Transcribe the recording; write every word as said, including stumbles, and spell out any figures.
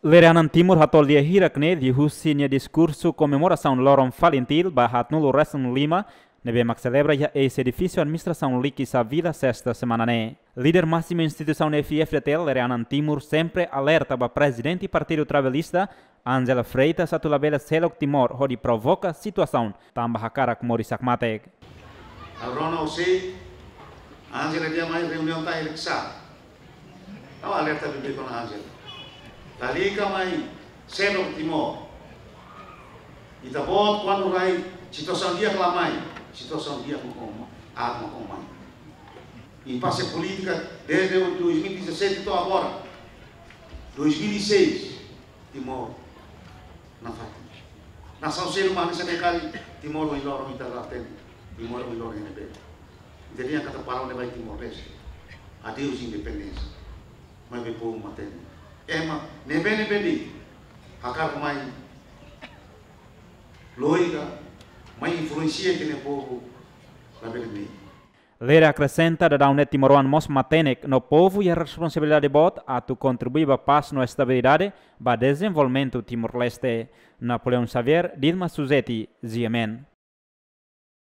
Lere-anan Timor hatol di'ak hirak ne'e liuhusi nia diskursu komemorasaun loron FALINTIL ba haatnulu resin lima, ne'ebé mak selebra iha eis-edifísiu administrasaun Likisá Vila, Sesta semana ne'e. Líder másimu instituisaun F I F-DTL, Lere-anan Timor, sempre alerta ba Prezidente Partidu Trabalhista, Ángela Freitas, atu labele seluk Timor hodi provoka situasaun tanba hakarak moris hakmatek. Ha'u rona hosi Ángela, nia mai reuniaun ita Likisá. Ha'u alerta beibeik ona Ángela. Lalika mai seluk Timor. Ita-boot kuandu rai situasaun di'ak la mai, situasaun di'ak mak ona, aat mak ona mai. Impase polítika desde dois mil e dezassete to'o agora. Dois mil e seis, Timor nafatin. Nasaun seluk mak hanesan ne'e kali, Timor ohin loron ita la hatene. Timor ohin loron ne'ebé. Ita dehan katak parau ne'e ba Timor-Leste. Adeus independénsia. Maibé povu matenek. Ema ne'ebé-ne'ebé de'it hakarak mai lori ka mai influensia ita-nia povu labele mehi. Lere akresenta daudaun ne'e timoroan mós matenek no povu iha responsabilidade boot atu kontribui ba pás no estabilidade ba dezenvolvimentu Timor-Leste. Napoleão Xavier, Dilma Suzeti, G M N.